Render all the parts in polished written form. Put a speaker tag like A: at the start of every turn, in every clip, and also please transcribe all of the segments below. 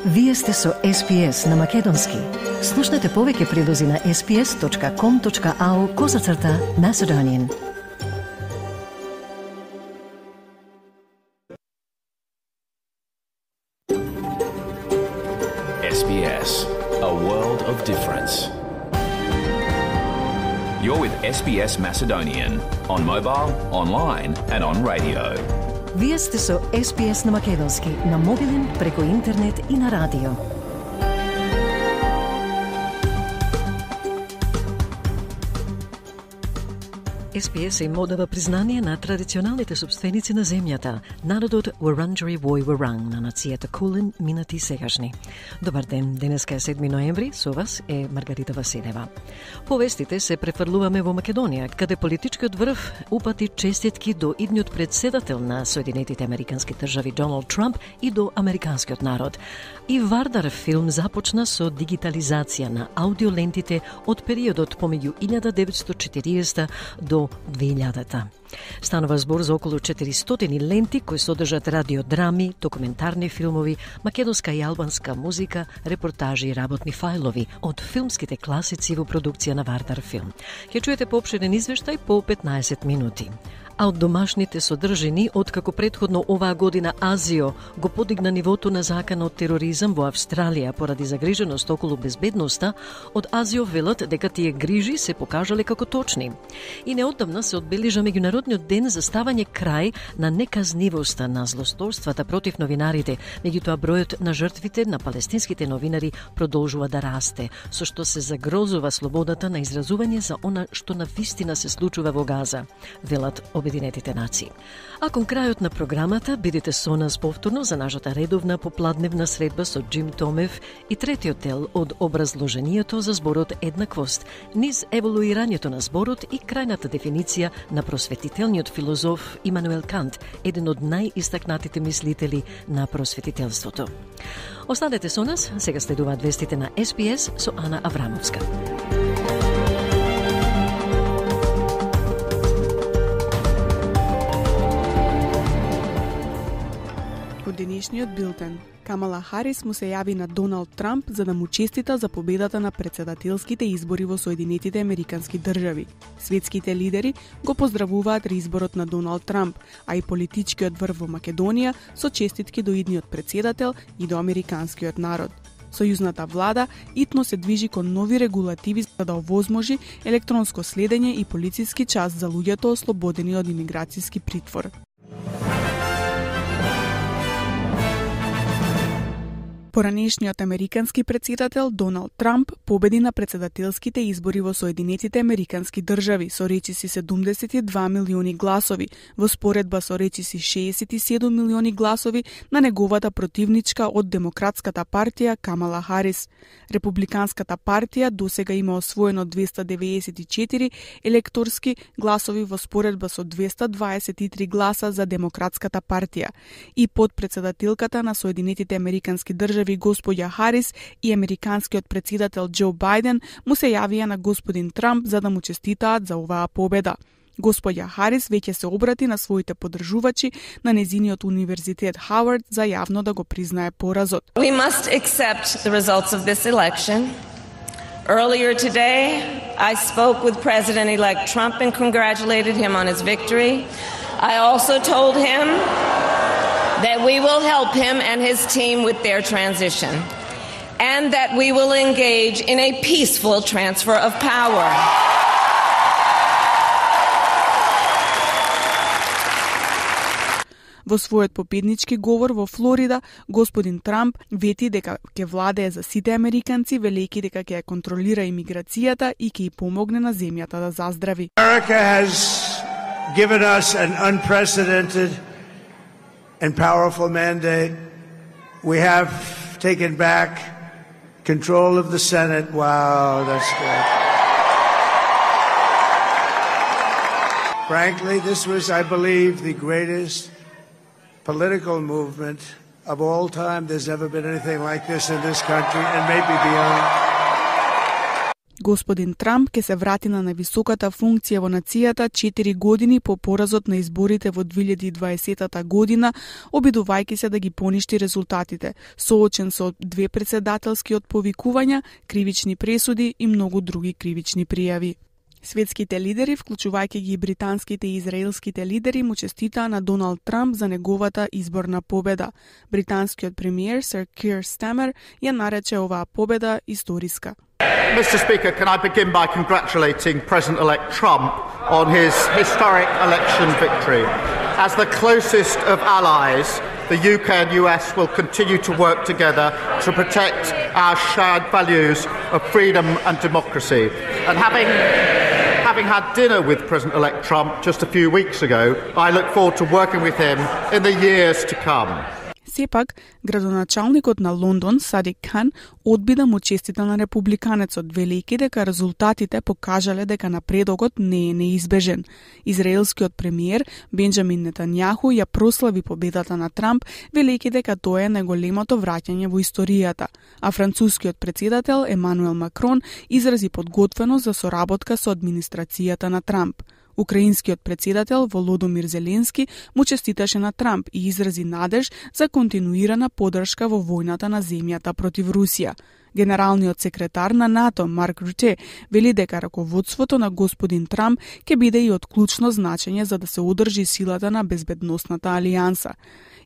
A: Вие сте со SPS на Македонски. Слушнете повеќе прилози на sps.com.au/Macedonian.
B: SBS, a world of difference. You're with SBS Macedonian on mobile, online and on radio.
A: Вие сте со SPS на Македонски, на мобилен, преку интернет и на радио. SPS им одава признание на традиционалните собственици на земјата, народот Wurundjeri Woi Wurrung на нацијата Кулин, минати и сегашни. Добар ден, денеска е 7 ноември, со вас е Маргарита Василева. Повестите се префрлуваме во Македонија, каде политичкиот врв упати честитки до идниот председател на Соединетите Американски држави Доналд Трамп и до американскиот народ. И Вардар филм започна со дигитализација на аудиолентите од периодот помеѓу 1940 до 2000-та. Станува збор за околу 400 ленти кои содржат радиодрами, документарни филмови, македонска и албанска музика, репортажи и работни фајлови од филмските класици во продукција на Вардар филм. Ќе чуете поопширен извештај по 15 минути. А од домашните содржини, откако предходно оваа година Азио го подигна нивото на закана од тероризам во Австралија поради загриженост околу безбедноста, од Азио велат дека тие грижи се покажале како точни. И неодамна се одбележа меѓународниот ден за ставање крај на неказнивоста на злосторствата против новинарите, меѓутоа бројот на жртвите на палестинските новинари продолжува да расте, со што се загрозува слободата на изразување за она што навистина се случува во Газа, велат Обединетите нации. А кон крајот на програмата бидете со нас повторно за нашата редовна попладневна средба со Джим Томев и третиот дел од образложението за зборот еднаквост, низ еволуирањето на зборот и крајната дефиниција на просветителниот филозоф Имануел Кант, еден од најистакнатите мислители на просветителството. Останете со нас, сега следуваат вестите на SPS со Ана Аврамовска.
C: Во денешниот билтен, Камала Харис му се јави на Доналд Трамп за да му честита за победата на претседателските избори во Соединетите Американски држави. Светските лидери го поздравуваат реизборот на Доналд Трамп, а и политичкиот врв во Македонија со честитки до идниот претседател и до американскиот народ. Сојузната влада итно се движи кон нови регулативи за да овозможи електронско следење и полициски час за луѓето ослободени од имиграцијски притвор. Поранешниот американски претседател Доналд Трамп победи на претседателските избори во Соединетите Американски држави со речиси 72 милиони гласови, во споредба со речиси 67 милиони гласови на неговата противничка од Демократската партија Камала Харис. Републиканската партија досега има освоено 294 електорски гласови во споредба со 223 гласа за Демократската партија. И подпредседателката на Соединетите Американски држави господја Харис и американскиот претседател Џо Бајден му се јавија на господин Трамп за да му честитаат за оваа победа. Господја Харис веќе се обрати на своите поддржувачи на незиниот универзитет Хауард за јавно да го признае поразот.
D: We must accept the results of this election. Earlier today, I spoke with President-elect Trump and congratulated him on his victory. I also told him that we will help him and his team with their transition, and that we will engage in a peaceful transfer of power.
C: Во својот победнички говор во Флорида, господин Трамп вети дека ќе владее за сите американци, велејќи дека ќе контролира имиграцијата и ќе ја помогне на земјата да заздрави.
E: America has given us an unprecedented and powerful mandate. We have taken back control of the Senate. Wow, that's good. Frankly, this was, I believe, the greatest political movement of all time. There's never been anything like this in this country and maybe beyond.
C: Господин Трамп ќе се врати на највисоката функција во нацијата 4 години по поразот на изборите во 2020 година, обидувајќи се да ги поништи резултатите, соочен со 2 председателски отповикувања, кривични пресуди и многу други кривични пријави. Светските лидери, вклучувајќи ги британските и израелските лидери, му честитаа на Доналд Трамп за неговата изборна победа. Британскиот премиер Сир Кир Стармер ја нарече оваа победа историска.
F: Mr. Speaker, can I begin by congratulating President-elect Trump on his historic election victory. As the closest of allies, the UK and US will continue to work together to protect our shared values of freedom and democracy. And having had dinner with President-elect Trump just a few weeks ago, I look forward to working with him in the years to come.
C: Сепак, градоначалникот на Лондон, Садик Кан, одби да му честита на републиканецот, велејќи дека резултатите покажале дека напредокот не е неизбежен. Израелскиот премиер Бенџамин Нетањаху ја прослави победата на Трамп, велејќи дека тоа е најголемото враќање во историјата, а францускиот председател Емануел Макрон изрази подготвеност за соработка со администрацијата на Трамп. Украинскиот председател Володомир Зеленски му честиташе на Трамп и изрази надеж за континуирана поддршка во војната на земјата против Русија. Генералниот секретар на НАТО Марк Руте вели дека раководството на господин Трамп ќе биде и од клучно значење за да се одржи силата на безбедносната алијанса.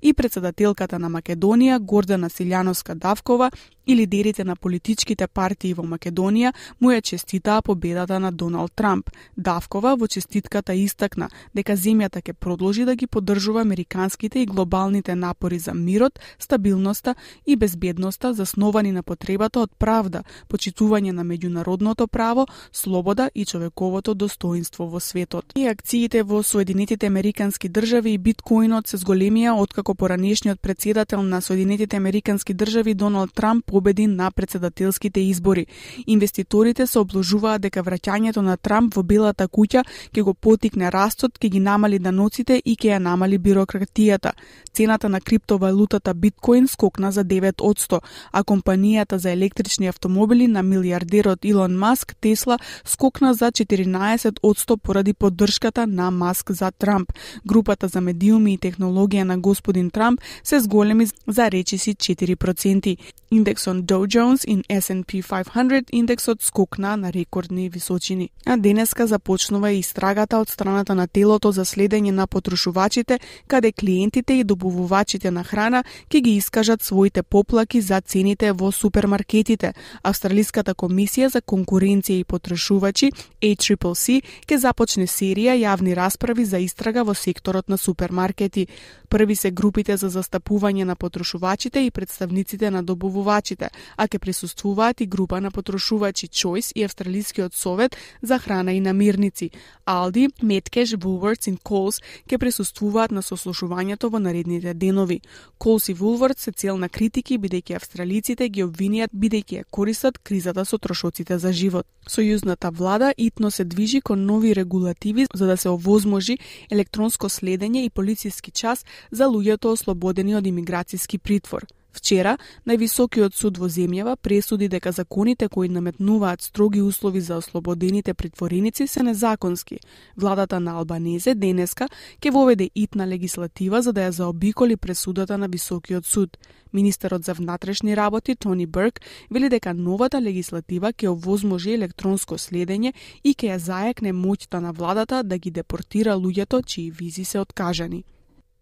C: И председателката на Македонија Гордана Силјановска-Давкова и лидерите на политичките партии во Македонија му ја честитаа победата на Доналд Трамп. Давкова во честитката истакна дека земјата ќе продолжи да ги поддржува американските и глобалните напори за мирот, стабилноста и безбедноста засновани на потребата од правда, почитување на меѓународното право, слобода и човековото достоинство во светот. И акциите во Соединетите Американски држави и биткоинот се зголемија откако поранешниот председател на Соединетите Американски држави Доналд Трамп победи на председателските избори. Инвеститорите се обложуваат дека враќањето на Трамп во Белата куќа ќе го потикне растот, ќе ги намали даноците и ќе ја намали бирократијата. Цената на криптовалутата биткоин скокна за 9%, а компанијата за електрични автомобили на милијардерот Илон Маск Тесла скокна за 14% поради поддршката на Маск за Трамп. Групата за медиуми и технологија на господин Трамп се зголеми за речиси 4%. Индексот Dow Jones и S&P 500 индексот скокна на рекордни височини. А денеска започнува и истрагата од страната на телото за следење на потрошувачите, каде клиентите и добавувачите на храна ќе ги искажат своите поплаки за цените во супермаркетите. Австралиската комисија за конкуренција и потрошувачи ACCC ќе започне серија јавни расправи за истрага во секторот на супермаркети. Први се групите за застапување на потрошувачите и представниците на добавувачите, а ќе присуствуваат и група на потрошувачи Choice и Австралискиот совет за храна и намирници. Aldi, Metcash, Woolworths и Coles ќе присуствуваат на сослушувањето во наредните денови. Coles и Woolworths се цел на критики бидејќи австралиците ги обвинија бидејќи ја користат кризата со трошоците за живот. Сојузната влада итно се движи кон нови регулативи за да се овозможи електронско следење и полициски час за луѓето ослободени од имиграцијски притвор. Вчера, највисокиот суд во земјава пресуди дека законите кои наметнуваат строги услови за ослободените притвореници се незаконски. Владата на Албанезе денеска ќе воведе итна легислатива за да ја заобиколи пресудата на високиот суд. Министерот за внатрешни работи Тони Берк вели дека новата легислатива ќе овозможи електронско следење и ќе ја зајакне моќта на владата да ги депортира луѓето чии визи се откажани.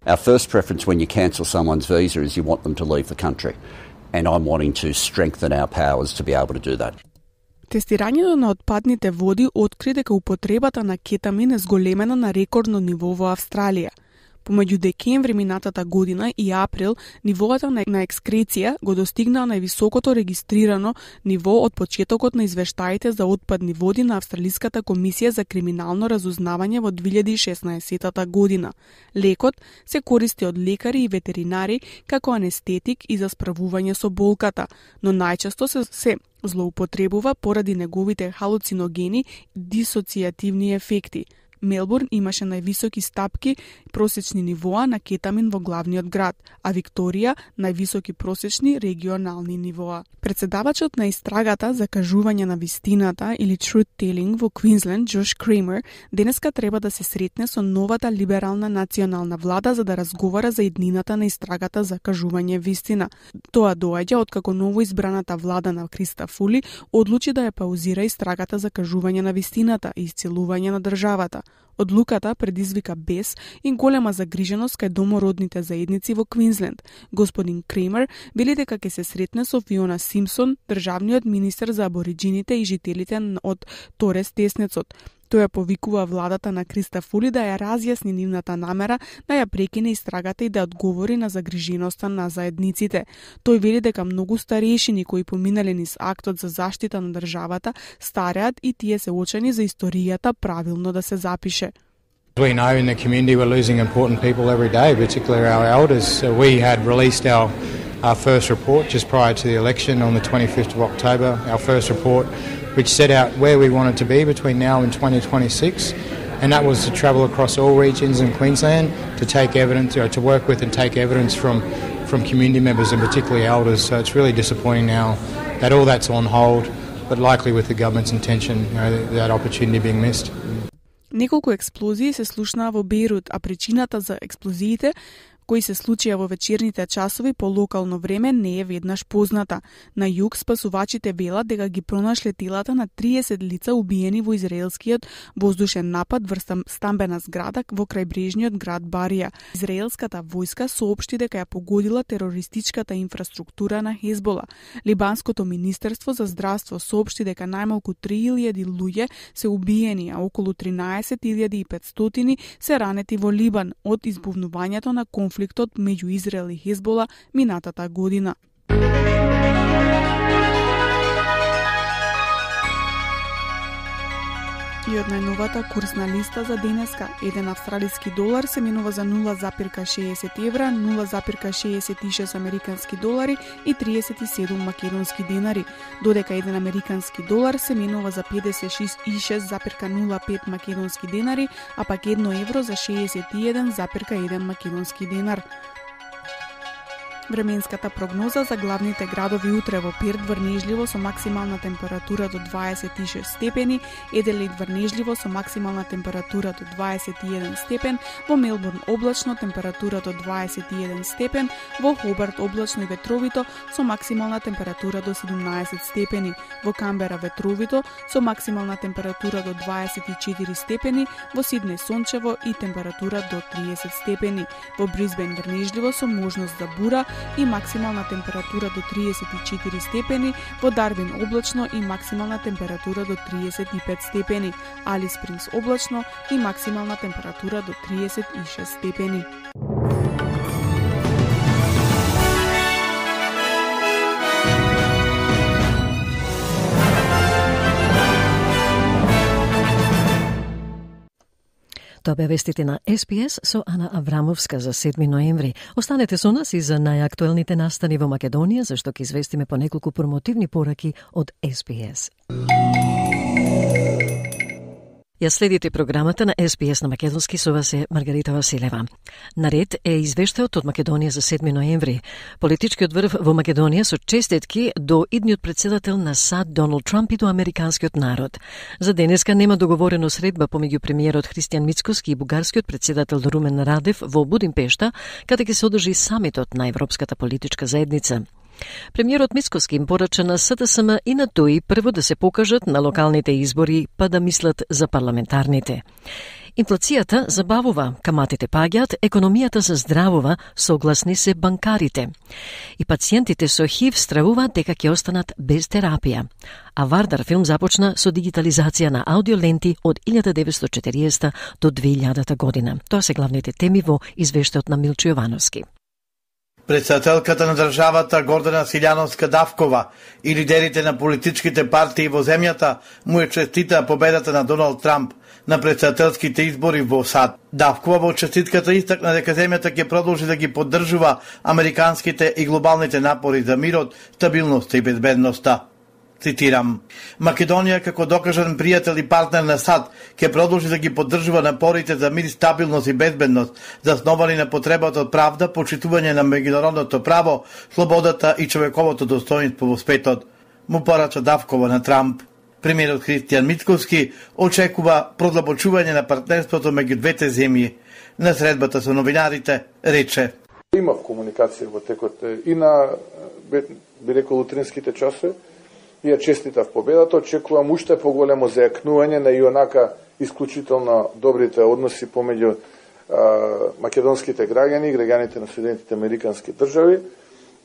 G: Our first preference when you cancel someone's visa is you want them to leave the country. And I'm wanting to strengthen our powers to be able to do that.
C: Тестирањето на отпадните води откри дека употребата на кетамин е зголемена на рекордно ниво во Австралија. Помеѓу декември минатата година и април, нивоата на екскреција го достигнаа највисокото регистрирано ниво од почетокот на извештаите за отпадни води на Австралиската комисија за криминално разузнавање во 2016 година. Лекот се користи од лекари и ветеринари како анестетик и за справување со болката, но најчесто се злоупотребува поради неговите халуциногени дисоцијативни ефекти. Мелбурн имаше највисоки стапки просечни нивоа на кетамин во главниот град, а Викторија највисоки просечни регионални нивоа. Председавачот на истрагата за кажување на вистината или truth telling во Квинсленд, Джош Кремер, денеска треба да се сретне со новата либерална национална влада за да разговара за иднината на истрагата за кажување вистина. Тоа доаѓа откако новоизбраната влада на Криста Фули одлучи да ја паузира истрагата за кажување на вистината и исцелување на државата. Одлуката предизвика бес и голема загриженост кај домородните заедници во Квинсленд. Господин Кремер вели дека ќе се сретне со Фиона Симпсон, државниот министер за абориджините и жителите од Торес Теснецот. Тој ја повикува владата на Криста Фули да ја разјасни нивната намера да ја прекине истрагата и да одговори на загриженоста на заедниците. Тој вели дека многу старешини кои поминале низ актот за заштита на државата стареат и тие се очени за историјата правилно да се запише.
H: We know in the community we're losing important people every day, particularly our elders. We had released our first report just prior to the election on the 25th of October, our first report which set out where we wanted to be between now and 2026, and that was to travel across all regions in Queensland to take evidence, to work with and take evidence from community members and particularly elders. So it's really disappointing now that all that's on hold, but likely with the government's intention, that opportunity being missed.
C: Неколку експлозии се слушнаа во Бејрут, а причината за експлозиите кои се случија во вечерните часови по локално време не е веднаш позната. На југ спасувачите велат дека ги пронашле телата на 30 лица убиени во израелскиот воздушен напад врз стамбена зграда во крајбрежниот град Барија. Израелската војска соопшти дека ја погодила терористичката инфраструктура на Хезбола. Либанското министерство за здравство соопшти дека најмалку 3000 луѓе се убиени, а околу 13.500 се ранети во Либан од избувнувањето на конфликтот меѓу Израел и Хезбола минатата година. И од најновата курсна листа за денеска, еден австралиски долар се менува за 0,60 евра, 0,66 американски долари и 37 македонски денари, додека еден американски долар се менува за 56,05 македонски денари, а пак 1 евро за 61,1 македонски денар. Временската прогноза за главните градови утре: во Перт врнежливо со максимална температура до 26 степени, Еделейд врнежливо со максимална температура до 21 степен, во Мелбурн облачно температура до 21 степен, во Хобарт облачно и ветровито со максимална температура до 17 степени, во Камбера ветровито со максимална температура до 24 степени, во Сиднеј сончево и температура до 30 степени, во Брисбен врнежливо со можност за бура и максимална температура до 34 степени, во Дарвин облачно и максимална температура до 35 степени, Алис Спрингс облачно и максимална температура до 36 степени.
A: Тоа бе вестите на СПС со Ана Аврамовска за 7 ноември. Останете со нас и за најактуелните настани во Македонија, зашто ќе известиме по неколку промотивни пораки од СПС. Ја следите програмата на СПС на Македонски, со вас е Маргарита Василева. Наред е извештајот од Македонија за 7 ноември. Политичкиот врв во Македонија со честитки до идниот председател на САД Доналд Трамп и до американскиот народ. За денеска нема договорено средба помеѓу премиерот Христијан Мицкоски и бугарскиот председател Румен Радев во Будимпешта, каде ќе се одржи самитот на Европската политичка заедница. Премиерот Мицкоски им порача на СДСМ и на ТОИ прво да се покажат на локалните избори, па да мислат за парламентарните. Инфлацијата забавува, каматите паѓаат, економијата се здравува, согласни се банкарите. И пациентите со ХИВ стравуваат дека ќе останат без терапија. А Вардар филм започна со дигитализација на аудиоленти од 1940 до 2000 година. Тоа се главните теми во извештајот на Милчо Јовановски.
E: Председателката на државата Гордана Силјановска-Давкова и лидерите на политичките партии во земјата му е честита победата на Доналд Трамп на председателските избори во САД. Давкова во честитката истакна дека земјата ќе продолжи да ги поддржува американските и глобалните напори за мирот, стабилноста и безбедноста.
I: Цитирам: Македонија како докажан пријател и партнер на САД ќе продолжи да ги поддржува напорите за мир, стабилност и безбедност, засновани на потребата од правда, почитување на меѓународното право, слободата и човековото достоинство во светот, му порача Давкова на Трамп. Премиерот Христијан Мицкоски очекува продлабочување на партнерството меѓу двете земји. На средбата со новинарите рече:
J: Имав комуникација во текот и на, би рекол, утринските часови, и ја честитав победата. Очекувам уште поголемо зајакнување на и онака исклучително добрите односи помеѓу македонските граѓани и граѓаните на Соединетите Американски држави.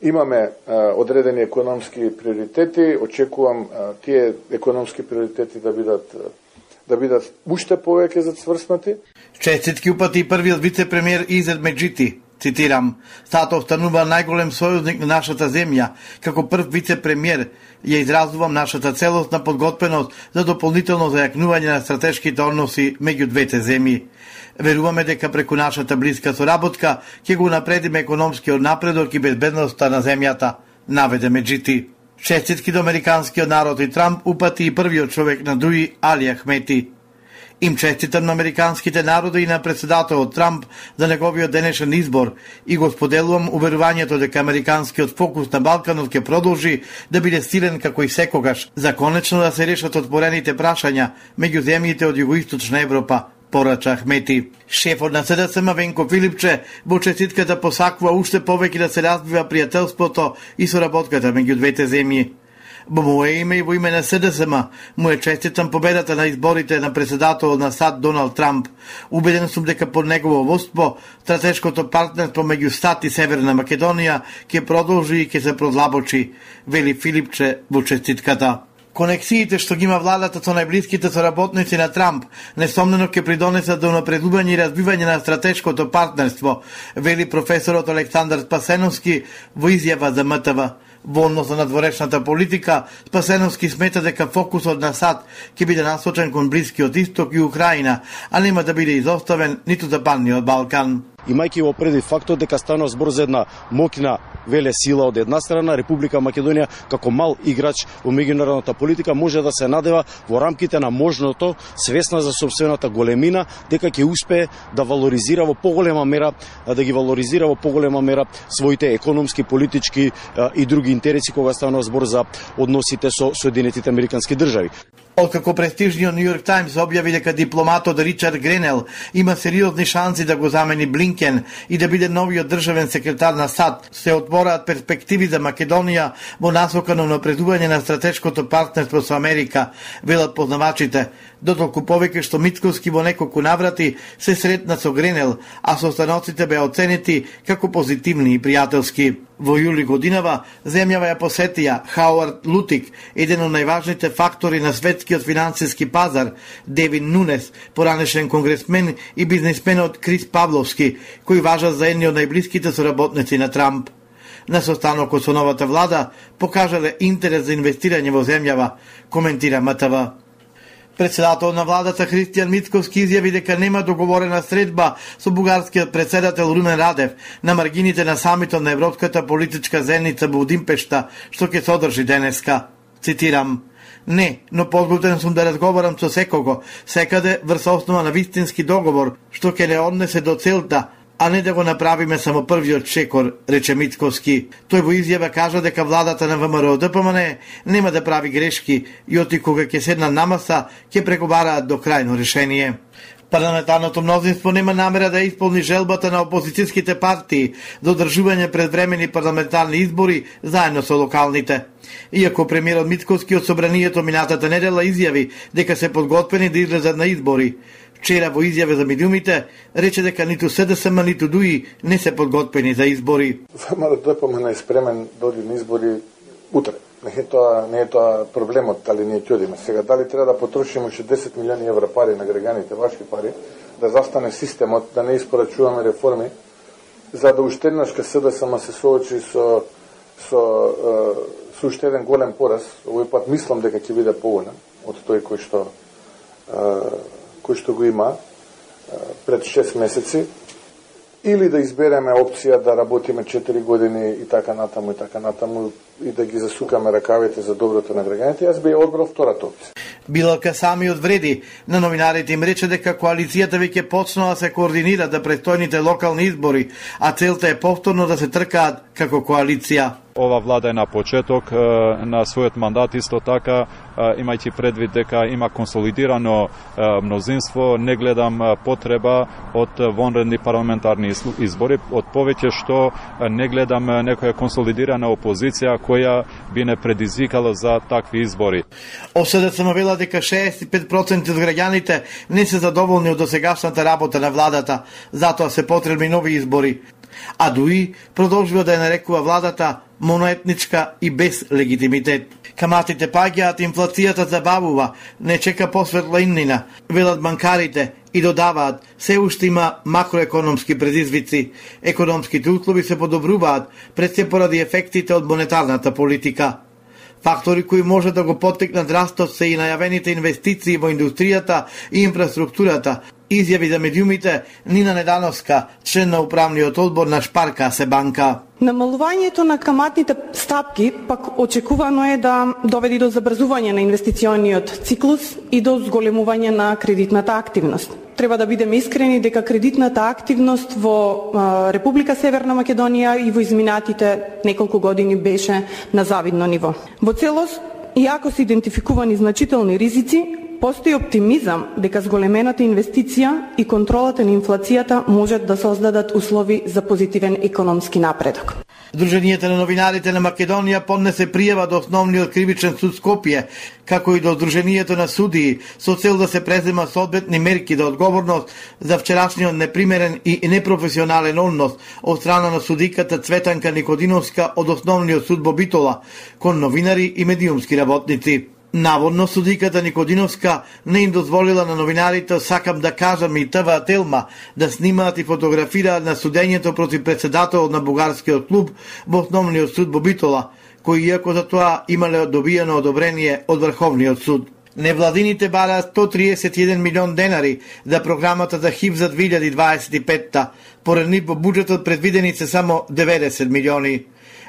J: Имаме одредени економски приоритети. Очекувам тие економски приоритети да бидат уште повеќе зацврснати.
I: Честитки упати првиот вице-премиер Изет Меджити. Цитирам: "Стато останува најголем сојузник на нашата земја. Како прв вице-премиер ја изразувам нашата целосна подготвеност за дополнително зајакнување на стратешките односи меѓу двете земји. Веруваме дека преку нашата блиска соработка ќе го напредиме економскиот напредок и безбедноста на земјата", наведе Меджити. Честитки до американскиот народ и Трамп упати и првиот човек на Дуи, Али Ахмети. Им честитам на американските народи и на председателот Трамп за неговиот денешен избор и го споделувам уверувањето дека американскиот фокус на Балканот ќе продолжи да биде силен како и секогаш, за конечно да се решат отворените прашања меѓу земјите од југоисточна Европа, порача Ахмети. Шефот на СДСМ Венко Филипче во честитката посакува уште повеќе да се развива пријателството и соработката меѓу двете земји. Во мое име и во име на СДСМ му е честитам победата на изборите на председателот на САД Доналд Трамп. Убеден сум дека под негово водство стратешкото партнерство меѓу САД и Северна Македонија ќе продолжи и ќе се продлабочи, вели Филипче во честитката. Конексиите што ги има владата со најблиските соработници на Трамп несомнено ќе придонесат до напредување и развивање на стратешкото партнерство, вели професорот Александар Спасеновски во изјава за МТВ. Во однос на надворешната политика, Спасеновски смета дека фокусот на САД ќе биде насочен кон Блискиот Исток и Украина, а нема да биде изоставен ниту Западниот Балкан.
K: Имајќи во предвид фактот дека станува збор за една моќна велесила од една страна, Република Македонија како мал играч во меѓународната политика може да се надева во рамките на можното, свесна за сопствената големина, дека ќе успее да валоризира во поголема мера, своите економски, политички и други интереси кога станува збор за односите со Соединетите Американски држави.
I: Откако престижниот Нью Йорк Таймс објави дека дипломатот Ричард Гренел има сериозни шанси да го замени Блинкен и да биде новиот државен секретар на САД, се отвораат перспективи за Македонија во насока на унапредување на стратешкото партнерство со Америка, велат познавачите, дотолку повеќе што Мицкоски во неколку наврати се сретна со Гренел, а состаноците беа оценети како позитивни и пријателски. Во јули годинава земјава ја посетија Хауард Лутик, еден од најважните фактори на светскиот финансиски пазар, Девин Нунес, поранешен конгресмен и бизнисменот Крис Павловски, кои важат за едни од најблиските соработници на Трамп. На состанокот со новата влада покажале интерес за инвестирање во земјава, коментира МТВ. Председател на владата Христијан Мицкоски изјави дека нема договорена средба со бугарскиот председател Румен Радев на маргините на самитот на Европската политичка заедница во Будимпешта, што ќе се одржи денеска. Цитирам: "Не, но подготвен сум да разговарам со секого, секаде врз основа на вистински договор, што ќе не однесе до целта, а не да го направиме само првиот шекор", рече Мицкоски. Тој во изјава кажа дека владата на ВМРО ДПМН нема да прави грешки и оти кога ќе седнат на маса, ќе преговараат до крајно решение. Парламентарното мнозинство нема намера да исполни желбата на опозицијските партии за одржување предвремени парламентарни избори заедно со локалните. Иако премиерот Мицкоски од собранието минатата недела изјави дека се подготвени да излезат на избори, вчера во изјаве за медиумите рече дека ниту СДСМ ниту ДУИ не се подготвени за избори.
J: ВМРО ДПМН е спремен да оди на избори утре. Не е тоа проблемот, дали ние ќе одиме. Сега, дали треба да потрошиме уште 10 милиони евра пари на граѓаните, ваши пари, да застане системот, да не испорачуваме реформи, за да уште еднаш ка СДСМ се соочи со уште еден голем пораз. Овој пат мислам дека ќе биде поголем од тој кој што го има пред 6 месеци. или да избереме опција да работиме 4 години и така натаму и да ги засукаме ракавите за доброто на граѓаните, јас би одбрал втората опција.
I: Билалка сами одвреди на новинарите им рече дека коалицијата веќе почнала да се координира за престојните локални избори, а целта е повторно да се тркаат како коалиција.
L: Ова влада е на почеток на својот мандат, исто така имајќи предвид дека има консолидирано мнозинство, не гледам потреба од вонредни парламентарни избори, од повеќе што не гледам некоја консолидирана опозиција која би не предизвикала за такви избори.
I: ОСДСМ вела дека 65% од граѓаните не се задоволни од досегашната работа на владата, затоа се потребни нови избори. А дуи продолжува да ја нарекува владата моноетничка и без легитимитет. Каматите паѓаат, инфлацијата забавува, не чека посветла иднина, велат банкарите и додаваат, се уште има макроекономски предизвици. Економските услови се подобруваат, пред се поради ефектите од монетарната политика. Фактори кои може да го поттикнат растот се и најавените инвестиции во индустријата и инфраструктурата, изјави за медиумите Нина Недановска, член на управниот одбор на Шпарка се банка.
M: Намалувањето на каматните стапки пак очекувано е да доведе до забрзување на инвестициониот циклус и до зголемување на кредитната активност. Треба да бидеме искрени дека кредитната активност во Република Северна Македонија и во изминатите неколку години беше на завидно ниво. Во целост, иако се идентификувани значителни ризици, постои оптимизам дека зголемената инвестиција и контролата на инфлацијата можат да создадат услови за позитивен економски напредок.
I: Сдруженијата на новинарите на Македонија поднесе пријава до Основниот кривичен суд Скопје, како и до Сдруженијето на судии, со цел да се презема соодветни мерки за одговорност за вчерашниот непримерен и непрофесионален однос од страна на судиката Цветанка Никодиновска од Основниот суд во Битола кон новинари и медиумски работници. Наводно судиката Никодиновска не им дозволила на новинарите "Сакам да кажам" и ТВ Телма да снимаат и фотографираат на судењето против председателот на бугарскиот клуб во Основниот суд во Битола, кој иако за тоа имале добиено одобрение од Врховниот суд. Невладините бараат 131 милион денари за програмата за ХИВ за 2025-та. Поред нив во буџетот предвидени се само 90 милиони.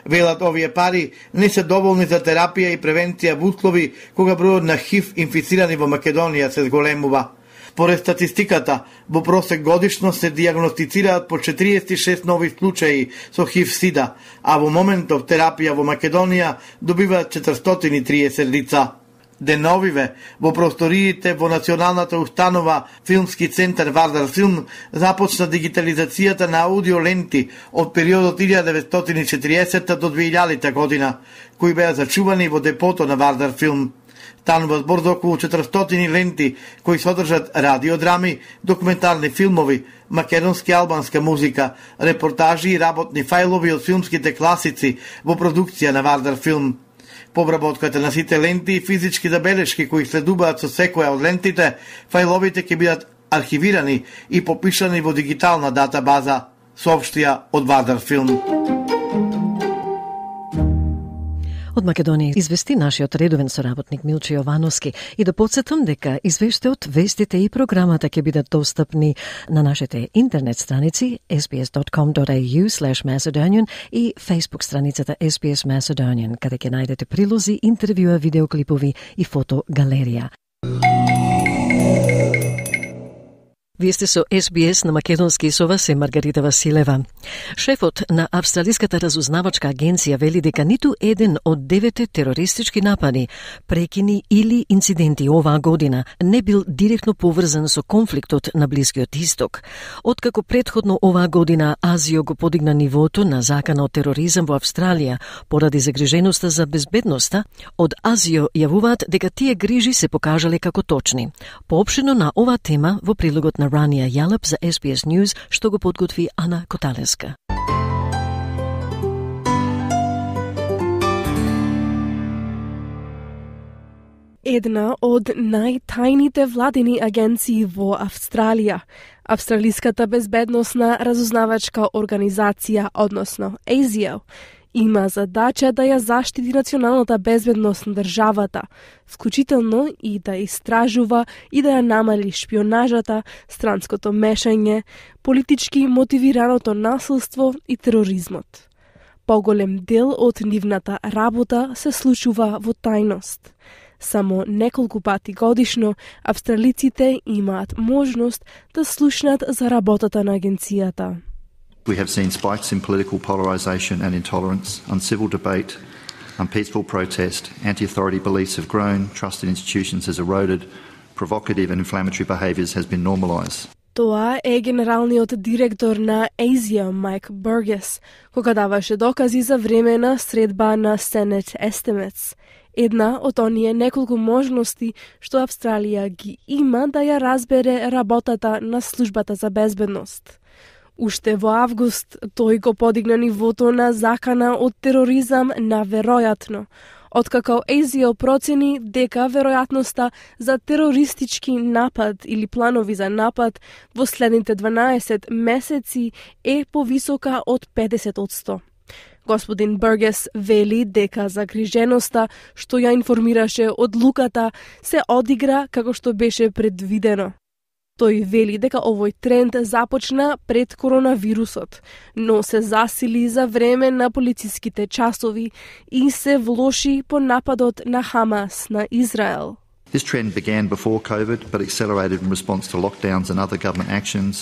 I: Велат овие пари не се доволни за терапија и превенција во услови кога бројот на ХИВ инфицирани во Македонија се зголемува. Поред статистиката, во просек годишно се дијагностицираат по 46 нови случаи со ХИВ-СИДА, а во моментов терапија во Македонија добиваат 430 лица. Деновиве, во просториите во Националната установа Филмски центар Вардар Филм започна дигитализацијата на аудиоленти од периодот 1940 до 2000 година, кои беа зачувани во депото на Вардар Филм. Станува збор за околу 400 ленти кои содржат радиодрами, документарни филмови, македонски и албанска музика, репортажи и работни фајлови од филмските класици во продукција на Вардар Филм. По обработката на сите ленти и физички забелешки кои следуваат со секоја од лентите, фајловите ќе бидат архивирани и попишани во дигитална датабаза, соопштија од Вардар Филм.
A: Од Македонија извести нашиот редовен соработник Милче Јовановски и да подсетам дека извештајот, вестите и програмата ќе бидат достапни на нашите интернет страници sbs.com.au/macedonian и Facebook страницата SBS Macedonian, каде ќе најдете прилози, интервјуа, видеоклипови и фотогалерија. Вие сте со SBS на македонски, со вас е Маргарита Василева. Шефот на Австралиската разузнавачка агенција вели дека ниту еден од 9 терористички напади, прекини или инциденти оваа година не бил директно поврзан со конфликтот на Блискиот Исток. Откако претходно оваа година Азио го подигна нивото на закана од тероризам во Австралија поради загриженоста за безбедноста, од Азио јавуваат дека тие грижи се покажале како точни. Поопштено на оваа тема во прилогот на Рания Јалап за SBS News, што го подготви Ана Коталеска.
N: една од најтајните владини агенции во Австралија. Австралиската безбедносна разузнавачка организација, односно ASIO, има задача да ја заштити националната безбедност на државата, вклучително и да истражува и да ја намали шпионажата, странското мешање, политички мотивираното насилство и тероризмот. Поголем дел од нивната работа се случува во тајност. Само неколку пати годишно австралиците имаат можност да слушнат за работата на агенцијата.
O: We have seen spikes in political polarisation and intolerance, uncivil debate, unpeaceful protest, anti-authority beliefs have grown, trust in institutions has eroded, provocative and inflammatory behaviours has been normalised.
N: Тоа е генералниот директор на ASIO, Майк Бургес, кога даваше докази за време на средба на Senate Estimates. Една од оние неколку можности што Австралија ги има да ја разбере работата на службата за безбедност. Уште во август тој го подигна нивото на закана од тероризам на веројатно, откако ASIO процени дека веројатноста за терористички напад или планови за напад во следните 12 месеци е повисока од 50%. Господин Бургес вели дека загриженоста што ја информираше одлуката се одигра како што беше предвидено. Тој вели дека овој тренд започна пред коронавирусот, но се засили за време на полициските часови и се влоши по нападот на Хамас на Израел.
O: This trend began before COVID but accelerated in response to lockdowns and other government actions.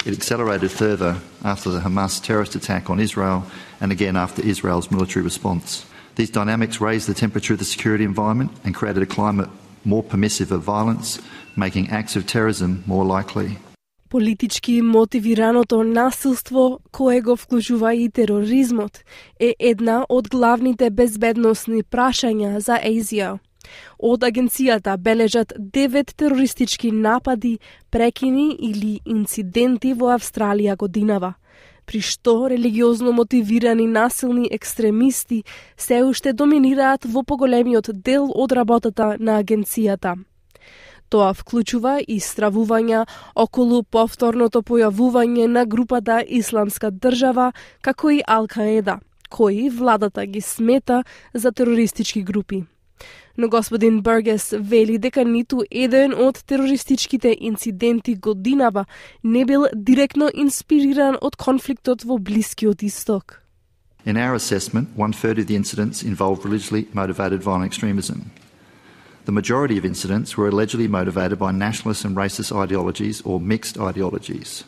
O: It accelerated further after the Hamas terrorist attack on Israel and again after Israel's military response. These dynamics raised the temperature of the security environment and created a climate more permissive of violence, making acts of terrorism more likely.
N: Политички мотивираното насилство, кое го вклучува и тероризмот, е една од главните безбедносни прашања за ASIO. Од агенцијата бележат 9 терористички напади, прекини или инциденти во Австралија годинава, при што религиозно мотивирани насилни екстремисти се уште доминираат во поголемиот дел од работата на агенцијата. Тоа вклучува и стравувања околу повторното појавување на групата Исламска држава, како и Ал-Каеда, кои владата ги смета за терористички групи. Но господин Бургес вели дека ниту еден од терористичките инциденти годинава не бил директно инспириран од конфликтот во Блискиот Исток.
O: In our assessment, 1/3 of the incidents involved religiously motivated violent extremism. The majority of incidents were allegedly motivated by nationalist and racist ideologies or mixed ideologies.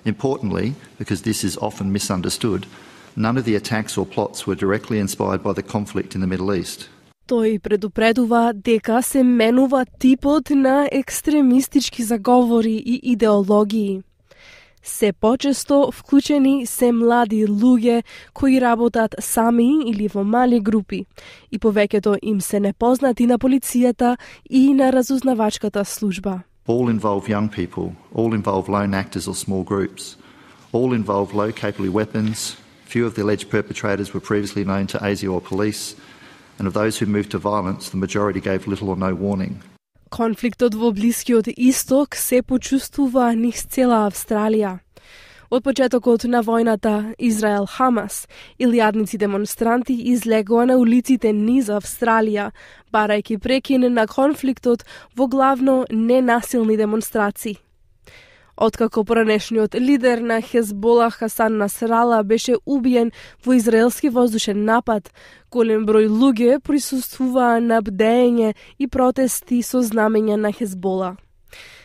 O: Importantly, because this is often misunderstood, none of the attacks or plots were directly inspired by the conflict in the Middle East.
N: Тој предупредува дека се менува типот на екстремистички заговори и идеологии. Се почесто вклучени се млади луѓе кои работат сами или во мали групи и повеќето им се непознати на полицијата и на разузнавачката служба.
O: All involve young people, all involve lone actors or small groups, all involve low-capable weapons. Few of the alleged perpetrators were previously known to ASIO or police, and of those who moved to violence, the majority gave little or no warning.
N: Конфликтот во Блискиот Исток се почувствува низ цела Австралија. Од почетокот на војната Израел-Хамас, илјадници демонстранти излегоа на улиците низ Австралија, барајќи прекин на конфликтот во главно ненасилни демонстрации. Откако поранешниот лидер на Хезбола Хасан Насрала беше убиен во израелски воздушен напад, голем број луѓе присуствуваа на бдење и протести со знамења на Хезбола.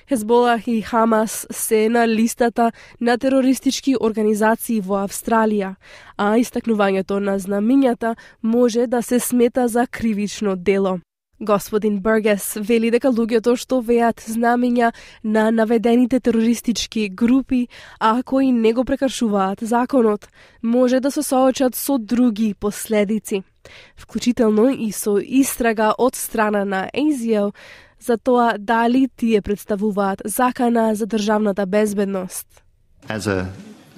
N: Хезбола и Хамас се на листата на терористички организации во Австралија, а истакнувањето на знамињата може да се смета за кривично дело. Господин Бургес вели дека луѓето што веат знамиња на наведените терористички групи, а кои не го прекршуваат законот, може да се соочат со други последици, вклучително и со истрага од страна на ASIO за тоа дали тие представуваат закана за државната безбедност.
O: As a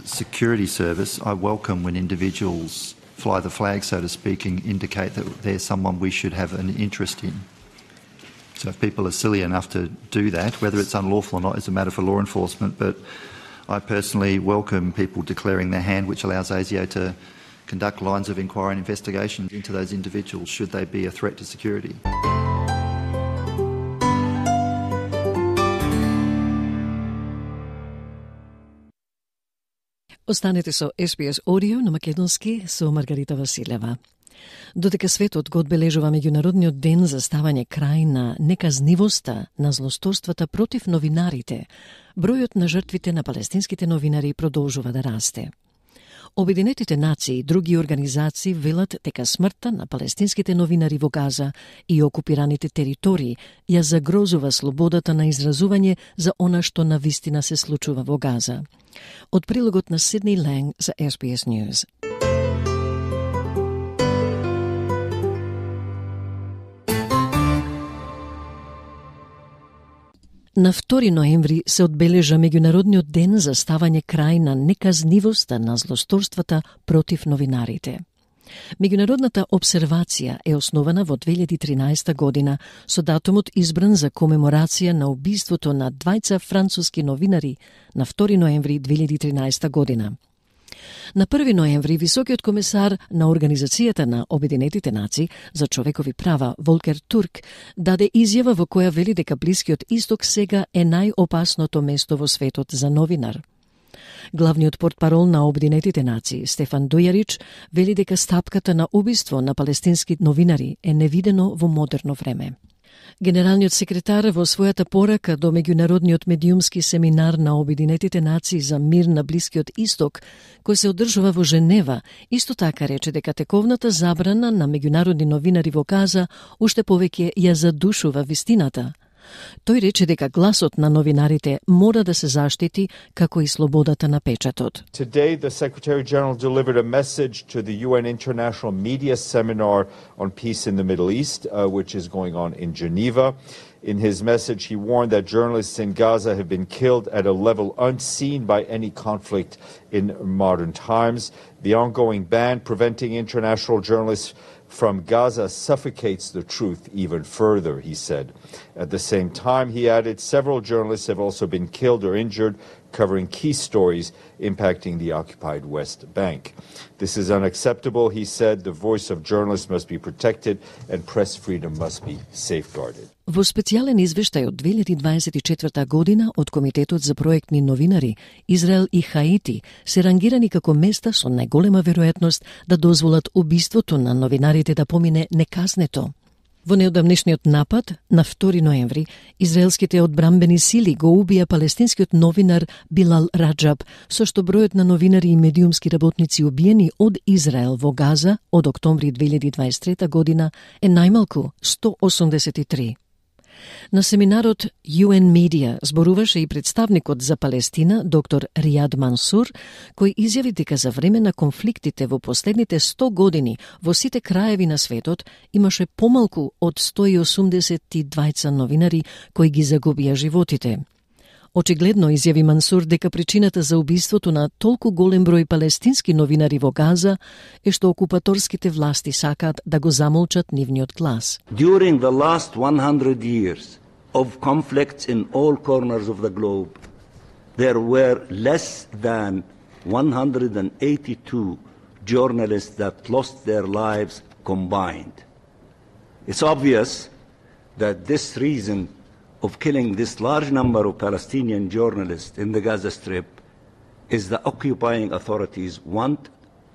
O: security service, I welcome when individuals fly the flag, so to speak, and indicate that they're someone we should have an interest in. So if people are silly enough to do that, whether it's unlawful or not is a matter for law enforcement, but I personally welcome people declaring their hand, which allows ASIO to conduct lines of inquiry and investigation into those individuals should they be a threat to security.
A: Останете со SBS Audio на македонски со Маргарита Василева. Додека светот го одбележува меѓународниот ден за ставање крај на неказнивоста на злосторствата против новинарите, бројот на жртвите на палестинските новинари продолжува да расте. Обединетите нации и други организации велат дека смртта на палестинските новинари во Газа и окупираните територии ја загрозува слободата на изразување за она што навистина се случува во Газа. Од прилогот на Сидни Ланг за SBS News. На 2 ноември се одбележа меѓународниот ден за ставање крај на неказнивоста на злосторствата против новинарите. Меѓународната обсервација е основана во 2013 година со датумот избран за комеморација на убиството на двајца француски новинари на 2 ноември 2013 година. На 1 ноември високиот комесар на Организацијата на Обединетите нации за човекови права Волкер Турк даде изјава во која вели дека Блискиот Исток сега е најопасното место во светот за новинар. Главниот портпарол на Обединетите нации Стефан Дујарич вели дека стапката на убиство на палестински новинари е невидено во модерно време. Генералниот секретар во својата порака до меѓународниот медиумски семинар на Обединетите нации за мир на Блискиот Исток, кој се одржува во Женева, исто така рече дека тековната забрана на меѓународни новинари во Газа уште повеќе ја задушува вистината. Тој рече дека гласот на новинарите мора да се заштити како и слободата на печатот.
P: Today the Secretary General delivered a message to the UN International Media Seminar on Peace in the Middle East, which is going on in Geneva. In his message, he warned that journalists in Gaza have been killed at a level unseen by any conflict in modern times. The ongoing ban preventing international journalists from Gaza suffocates the truth even further, he said. At the same time, he added, several journalists have also been killed or injured covering key stories impacting the occupied West Bank. This is unacceptable, he said. The voice of journalists must be protected and press freedom must be safeguarded.
A: Во специјален извештај од 2024 година од Комитетот за проектни новинари, Израел и Хаити се рангирани како места со најголема веројатност да дозволат убиството на новинарите да помине неказнето. Во неодамнешниот напад, на 2 ноември, израелските одбрамбени сили го убија палестинскиот новинар Билал Раджаб, со што бројот на новинари и медиумски работници убиени од Израел во Газа од октомври 2023 година е најмалку 183. На семинарот UN Media зборуваше и представникот за Палестина, доктор Ријад Мансур, кој изјави дека за време на конфликтите во последните 100 години во сите краеви на светот имаше помалку од 182 новинари кои ги загубија животите. Очигледно изјави Мансур дека причината за убиството на толку голем број палестински новинари во Газа е што окупаторските власти сакаат да го замолчат нивниот глас.
Q: During the last 100 years of conflicts in all corners of the globe, there were less than 182 journalists that lost their lives combined. It's obvious that this reason of killing this large number of Palestinian journalists in the Gaza Strip is the occupying authorities want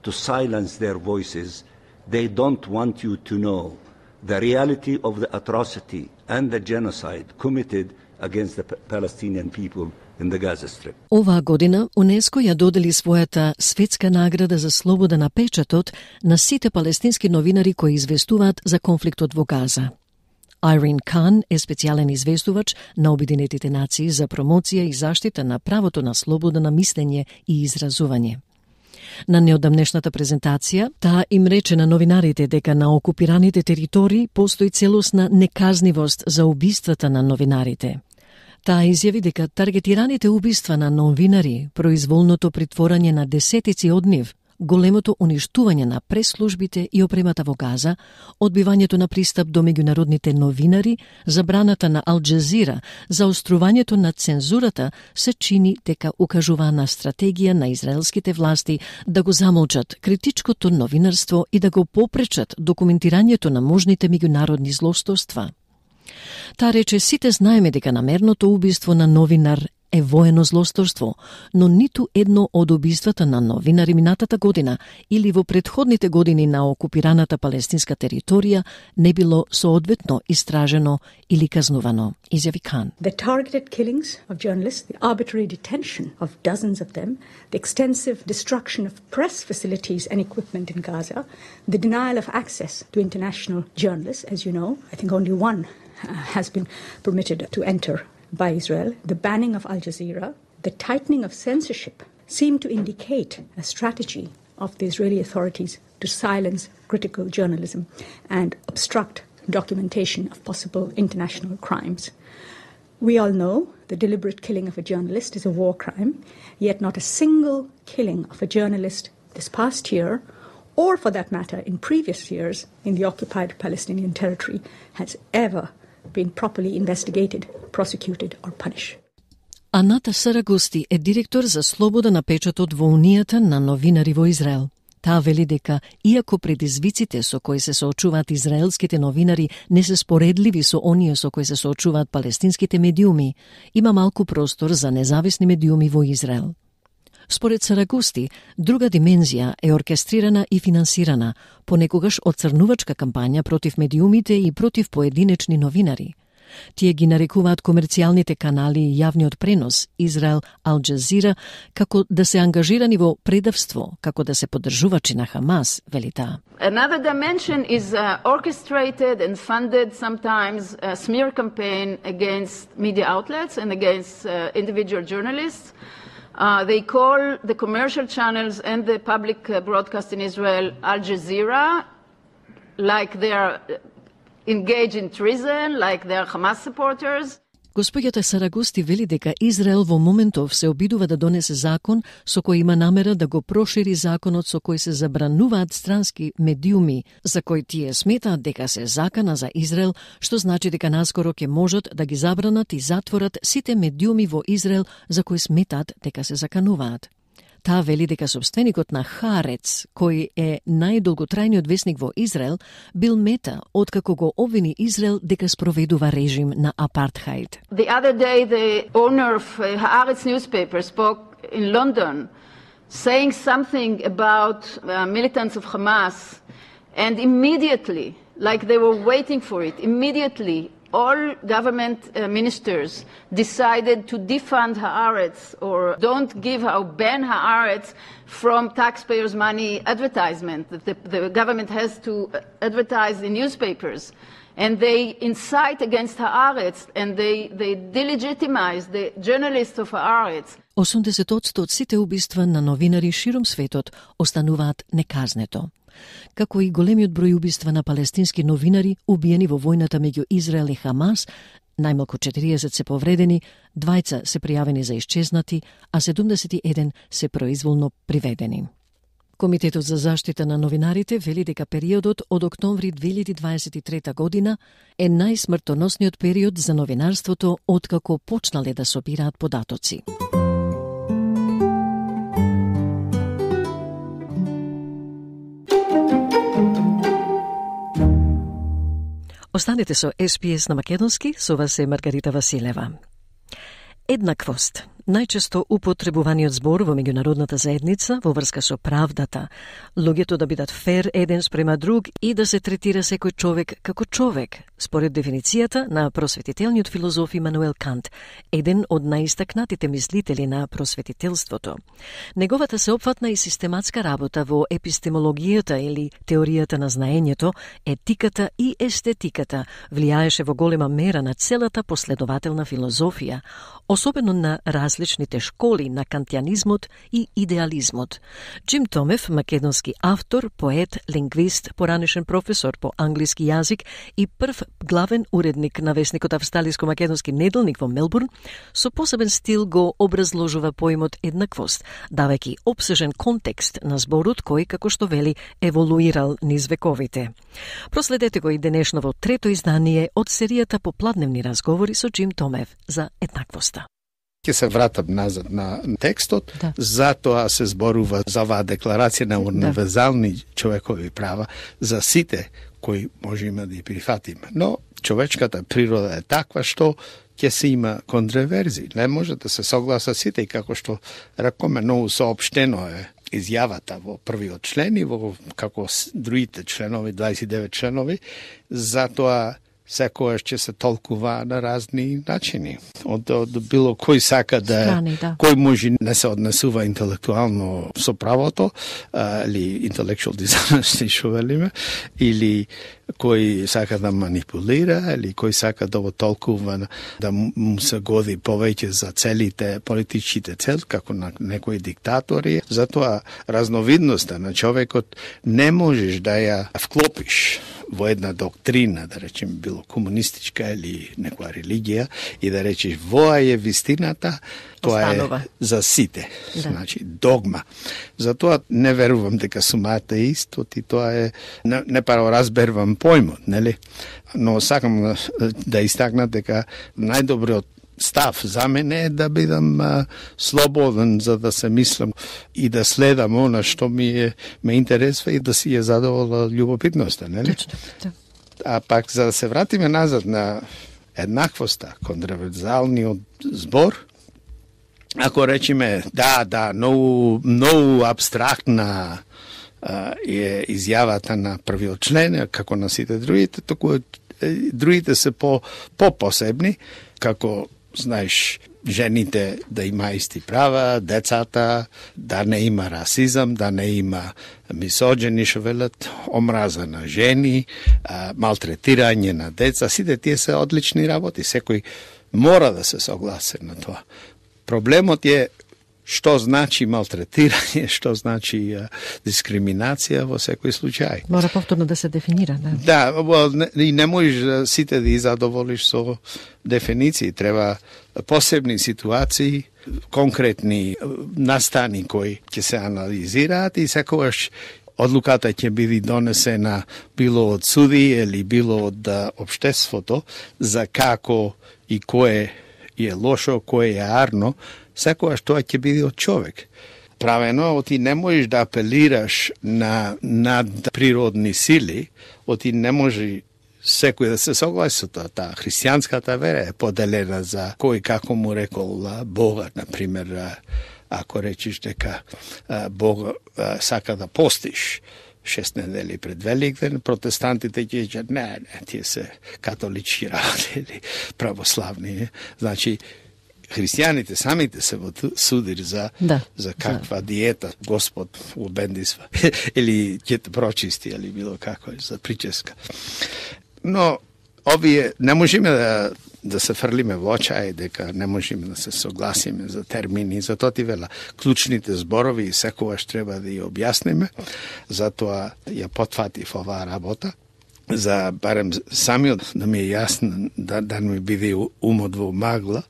Q: to silence their voices. They don't want you to know the reality of the atrocity and the genocide committed against the Palestinian people in the Gaza Strip.
A: Оваа година УНЕСКО ја додели својата светска награда за слобода на печатот на сите палестински новинари кои известуваат за конфликтот во Газа. Айрин Кан е специјален известувач на Обединетите нации за промоција и заштита на правото на слобода на мислење и изразување. На неодамнешната презентација, таа им рече на новинарите дека на окупираните територии постои целосна неказнивост за убиствата на новинарите. Таа изјави дека таргетираните убиства на новинари, произволното притворање на десетици од нив, големото уништување на прес-службите и опремата во Газа, одбивањето на пристап до меѓународните новинари, забраната на Ал Джазира, заострувањето на цензурата се чини дека укажува на стратегија на израелските власти да го замолчат критичкото новинарство и да го попречат документирањето на можните меѓународни злосторства. Таа рече, сите знаеме дека намерното убиство на новинар е воено злосторство, но ниту едно од убиствата на новинари минатата година или во претходните години на окупираната палестинска територија не било соодветно истражено или казнувано, изјави Кан.
R: The targeted killings of journalists, the arbitrary detention of dozens of them, the extensive destruction of press facilities and equipment in Gaza, the denial of access to international journalists, as you know, I think only one has been permitted to enter by Israel, the banning of Al Jazeera, the tightening of censorship seem to indicate a strategy of the Israeli authorities to silence critical journalism and obstruct documentation of possible international crimes. We all know the deliberate killing of a journalist is a war crime, yet not a single killing of a journalist this past year, or for that matter in previous years in the occupied Palestinian territory, has ever been properly investigated, prosecuted or punished.
A: Аната Сарагости е директор за слобода на печатот во Унијата на новинари во Израел. Таа вели дека, иако предизвиците со кои се соочуваат израелските новинари не се споредливи со оние со кои се соочуваат палестинските медиуми, има малку простор за независни медиуми во Израел. Според Сарагости, друга димензија е оркестрирана и финансирана, понекогаш оцрнувачка кампања против медиумите и против поединечни новинари. Тие ги нарекуваат комерцијалните канали и јавниот пренос, Израел, Ал Джазира, како да се ангажирани во предавство, како да се поддржувачи на Хамас, вели таа.
S: Another dimension is orchestrated and funded sometimes a smear campaign against media outlets and against individual journalists. They call the commercial channels and the public broadcast in Israel Al Jazeera, like they are engaged in treason, like they are Hamas supporters.
A: Господјата Сарагости вели дека Израел во моментов се обидува да донесе закон со кој има намера да го прошири законот со кој се забрануваат странски медиуми, за кој тие сметаат дека се закана за Израел, што значи дека наскоро ќе можат да ги забранат и затворат сите медиуми во Израел за кои сметаат дека се закануваат. Таа вели дека собственикот на Хаарец, кој е најдолготрајниот весник во Израел, бил мета откако го обвини Израел дека спроведува режим на апартхаид.
S: The other day the owner of Haaretz newspaper spoke in London saying something about militants of Hamas, and immediately, like they were waiting for it, immediately all government ministers decided to defund Haaretz or don't give or ban Haaretz from taxpayers' money advertisement. The government has to advertise in newspapers. And they incite against Haaretz and they delegitimize the journalists of Haaretz.
A: 80% од сите убиства на новинари широм светот остануваат неказнето. Како и големиот број убиства на палестински новинари убиени во војната меѓу Израел и Хамас, најмалку 40 се повредени, 2 се пријавени за исчезнати, а 71 се произволно приведени. Комитетот за заштита на новинарите вели дека периодот од октомври 2023 година е најсмртоносниот период за новинарството откако почнале да собираат податоци. Останете со SPS на македонски, со вас е Маргарита Василева. Еднаквост, најчесто употребуваниот збор во меѓународната заедница во врска со правдата, луѓето да бидат фер еден спрема друг и да се третира секој човек како човек, според дефиницијата на просветителниот филозоф Имануел Кант, еден од најистакнатите мислители на просветителството. Неговата сеопфатна и систематска работа во епистемологијата или теоријата на знаењето, етиката и естетиката влијаеше во голема мера на целата последователна филозофија, особено на различните школи на кантијанизмот и идеализмот. Джим Томев, македонски автор, поет, лингвист, поранешен професор по англиски јазик и прв главен уредник на весникот Австралиско-македонски неделник во Мелбурн, со посебен стил го образложува поимот еднаквост, давајќи опсежен контекст на зборот кој, како што вели, еволуирал низ вековите. Проследете го и денешново трето издание од серијата Попладневни разговори со Джим Томев за еднаквоста.
T: Ќе се вратам назад на текстот, затоа се зборува за оваа декларација на универзални човекови права за сите кои можеме да ја прифатиме. Но човечката природа е таква што ќе се има контроверзии. Не може да се согласа сите, и како што рекоме, многу соопштено е изјавата во првиот член и во како другите членови, 29 членови, затоа секојаш ќе се толкува на разни начини. Од било кој сака кој може не се однесува интелектуално со правото, или intellectual dishonesty, што велиме, или кој сака да манипулира, или кој сака да го толкува да му се годи повеќе за целите, политичките цели, како на некои диктатори. Затоа разновидноста на човекот не можеш да ја вклопиш во една доктрина, да речем, било комунистичка или некоја религија, и да речеш, воа е вистината, тоа е за сите. Да. Значи, догма. Затоа не верувам дека сум атеист, и тоа е, не паро разбервам појмот, нели? Но сакам да истакна дека најдобриот став за мене е да бидам слободен, за да се мислам и да следам она што ме интересува и да си ја задовола љубопитноста, нели? Точно. А пак за да се вратиме назад на еднаквоста, контроверзалниот збор, ако речеме многу абстрактна е изјавата на првиот член, како на сите другите, току другите се по-посебни, како знаеш, жените да има исти права, децата, да не има расизам, да не има мисоџени, што велат, омраза на жени, малтретирање на деца, сите тие се одлични работи, секој мора да се согласи на тоа. Проблемот е што значи малтретирање, што значи дискриминација во секој случај.
A: Мора повторно да се дефинира, да?
T: Да, и не можеш сите да ги задоволиш со дефиниции. Треба посебни ситуации, конкретни настани кои ќе се анализираат и секогаш одлуката ќе биде донесена било од суди или било од општеството за како и кое е лошо, кое е арно, секогаш тоа ќе биде од човек. Правено, ти не можеш да апелираш на надприродни сили, ти не може секој да се согласи со тоа. Таа христијанската вера е поделена за кој како му рекол Бога, например, ако речиш дека Бог сака да постиш 6 недели пред Великден, протестантите ќе кажат не, тие се католички работи или православни. Значи, христијаните самите се судир за каква диета Господ обендисва или ќе те прочисти или било како за прическа. Но овие не можеме да се фрлиме во очај дека не можеме да се согласиме за термини, затоа ти вела клучните зборови и секогаш треба да ја објасниме, затоа ја потфатив оваа работа, за барем самиот да ми е јасно, да ми биде умот во магла.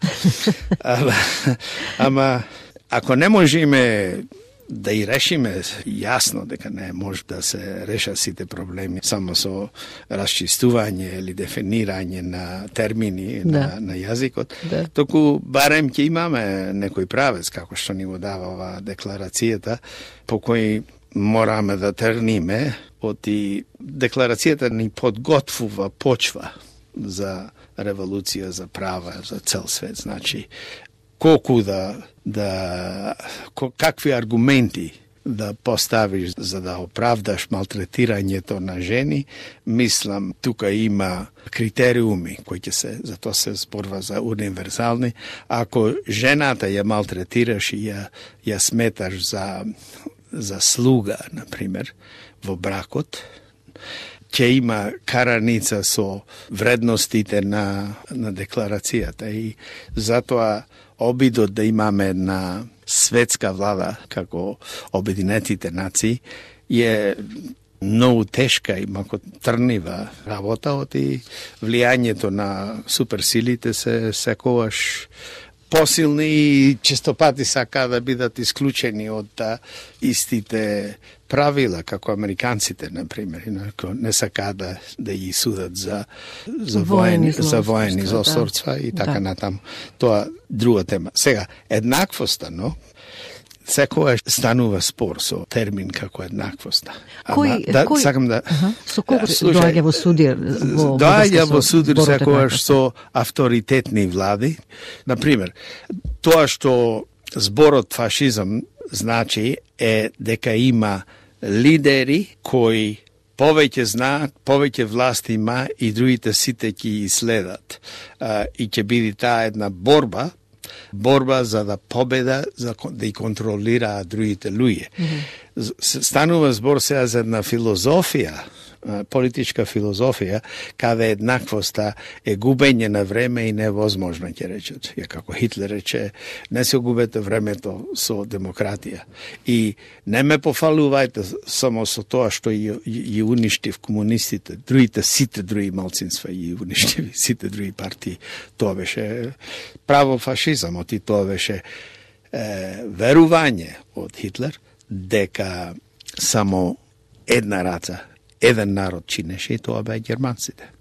T: Ама ако не можеме да и решиме јасно дека не може да се решат сите проблеми само со расчистување или дефинирање на термини на јазикот, току барем ќе имаме некој правец, како што ни го дава оваа декларацијата, по кој мораме да тргниме, оти декларацијата ни подготвува почва за револуција, за права, за цел свет. Значи, колку какви аргументи да поставиш за да оправдаш малтретирањето на жени, мислам, тука има критериуми кои ќе се, затоа се зборува за универзални. Ако жената ја малтретираш и ја сметаш за слуга, например, во бракот, ќе има караница со вредностите на декларацијата и затоа обидот да имаме една светска влада како Обединетите нации е многу тешка и мако трнива работа, и влијањето на суперсилите се секогаш посилни и честопати сака да бидат исклучени од истите правила, како американците, например, не сака да ги судат за воени злосторства и така натаму. Тоа друга тема. Сега, еднаквоста, но секогаш станува спор со термин како еднаквоста. Сакам да...
A: Со кого доаѓа во судир?
T: Доаѓа во судир секогаш со авторитетни влади. Например, тоа што зборот фашизам значи е дека има лидери кои повеќе знаат, повеќе власт има и другите сите ќе следат. И ќе биде таа една борба за да победа, за да и контролира другите луѓе. Станува збор сега за една филозофија, политичка филозофија, каде еднаквоста е губење на време и невозможно, ќе речат. Како Хитлер рече, не се губете времето со демократија. И не ме пофалувајте само со тоа што ја уништив комунистите, сите други малцинства ја уништив, сите други партии. Тоа беше право фашизам, и тоа беше верување од Хитлер дека само една раца, еден народ чинеше, и тоа беа германците.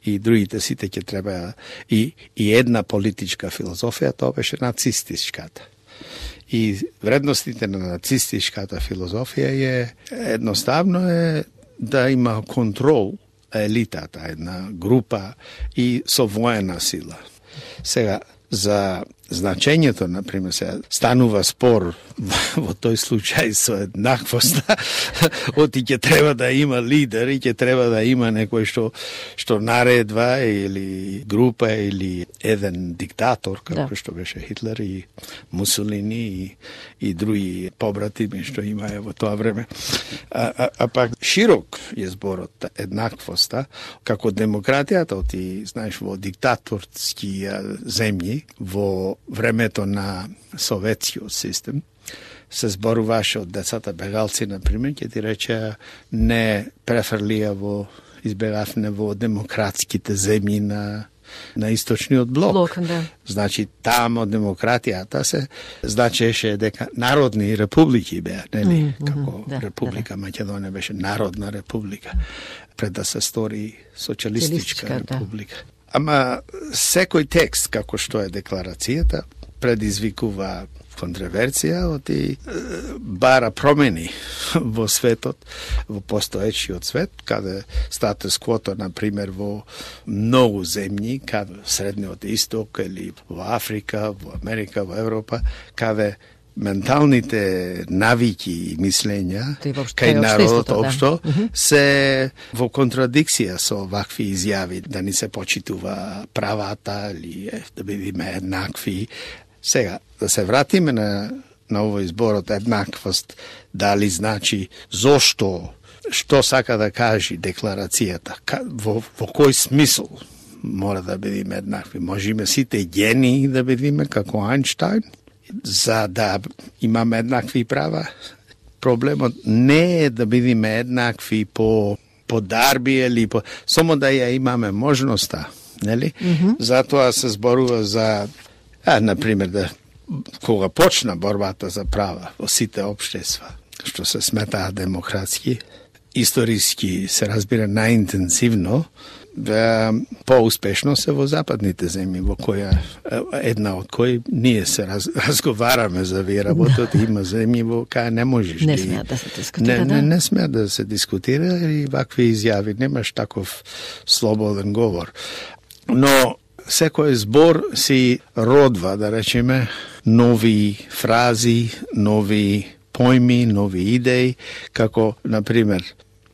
T: И другите сите ќе треба и една политичка филозофија, тоа беше нацистичката. И вредностите на нацистичката филозофија е едноставно да има контрол елитата, една група и со воена сила. Сега, за значењето, например, се станува спор во тој случај со еднаквоста, оти ќе треба да има лидер и ќе треба да има некој што наредва или група или еден диктатор, како што беше Хитлер и Мусолини и други побратими што имаја во тоа време. А пак широк е зборот еднаквоста, како демократијата, оти, знаеш, во диктаторски земји, во времето на советскиот систем, се зборуваше од децата бегалци, например, ќе ти рече не префрлија избегавне во демократските земји на источниот блок. Значи, тамо демократијата се значеше дека народни републики беа, нели? Како Република Македонија беше народна република, пред да се стори социјалистичка република. Ама секој текст, како што е декларацијата, предизвикува контроверзија, и бара промени во светот, во постоечиот свет, каде статус квото, например, во многу земји, каде Средниот Исток или во Африка, во Америка, во Европа, каде менталните навики и мислења кај народот општо се во контрадикција со вакви изјави, да ни се почитува правата или да бидеме еднакви. Сега, да се вратиме на овој зборот еднаквост, дали значи зошто, што сака да кажи декларацијата, во кој смисол мора да бидеме еднакви. Можеме сите гени да бидеме како Ајнштајн, за да имаме еднакви права. Проблемот не е да бидеме еднакви по дарби или само да ја имаме можноста, нели? Затоа се зборува за, например, кога почна борбата за права во сите општества, што се сметаат демократски, историски се разбира најинтензивно, поуспешно се во западните земји, во која една од кои ние се разговараме за овие работот, има земји во кај не можеш
A: не смеат да се дискутира.
T: Не смеат да се дискутира и вакви изјави, немаш таков слободен говор. Но секој збор си родва, да речеме, нови фрази, нови појми, нови идеи, како, например,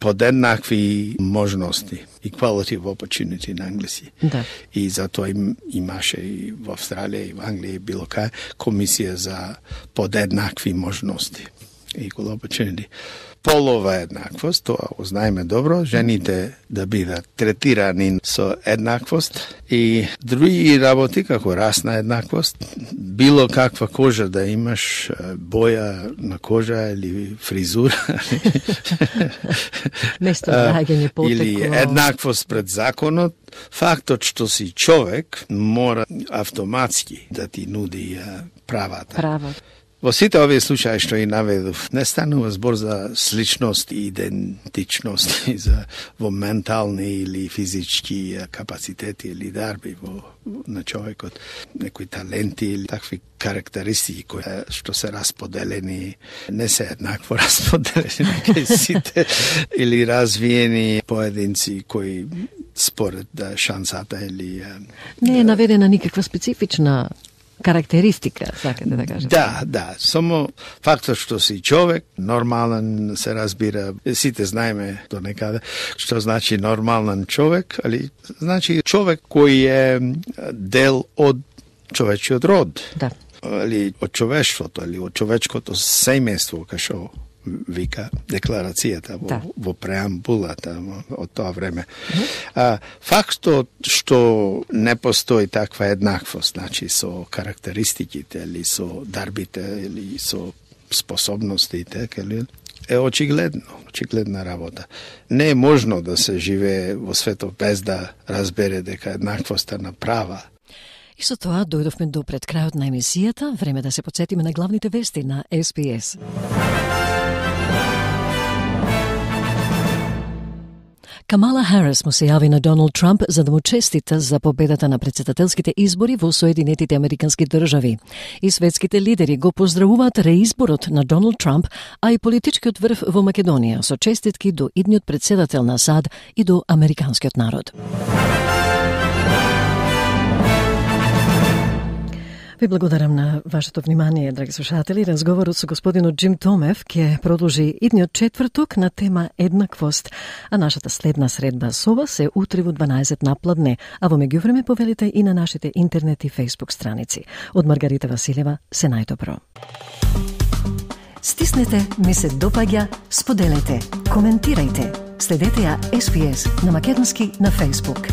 T: подеднакви можности, equality of opportunity на англиски.
A: Да.
T: И затоа имаше и во Австралија, и во Англија, и било кај, комисија за подеднакви можности. equal opportunity. Полова еднаквост, тоа го знаеме добро, жените да бидат третирани со еднаквост и други работи како расна еднаквост, било каква кожа да имаш, боја на кожа или фризура или еднаквост пред законот, фактот што си човек мора автоматски да ти нуди правата. Во сите овие случаи што и наведов, не станува збор за сличност и идентичност и за во ментални или физички капацитети или дарби на човекот, некои таленти или такви карактеристики кои што се расподелени, не се еднакво расподелени кај сите или развиени поединци кои според шансата или
A: не е наведена никаква специфична карактеристика, сакате да кажете.
T: Да, само фактот што си човек, нормален се разбира, сите знаеме до некаде, што значи нормален човек, али значи човек кој е дел од човечиот род.
A: Да.
T: Али од човештвото, или од човечкото семејство, кашо вика декларацијата во преамбулата од тоа време. Фактот што не постои таква еднаквост, значи со карактеристиките или со дарбите или со способностите, е очигледна работа. Не е можно да се живее во светот без да разбере дека еднаквоста на права.
A: И со тоа дојдовме до пред крајот на емисијата, време да се потсетиме на главните вести на SPS. Камала Харис му се јави на Доналд Трамп за да му честита за победата на претседателските избори во Соединетите Американски држави. И светските лидери го поздравуваат реизборот на Доналд Трамп, а и политичкиот врв во Македонија со честитки до идниот претседател на САД и до американскиот народ. Ви благодарам на вашето внимание, драги слушатели. Разговорот со господинот Джим Томев ќе продолжи идниот четврток на тема еднаквост, а нашата следна средба со вас е утре во 12 напладне, а во меѓувреме повелите и на нашите интернет и фейсбук страници. Од Маргарита Василева, се најдобро. Стиснете, ми се допаѓа, споделете, коментирајте. Следете ја SPS на македонски на фейсбук.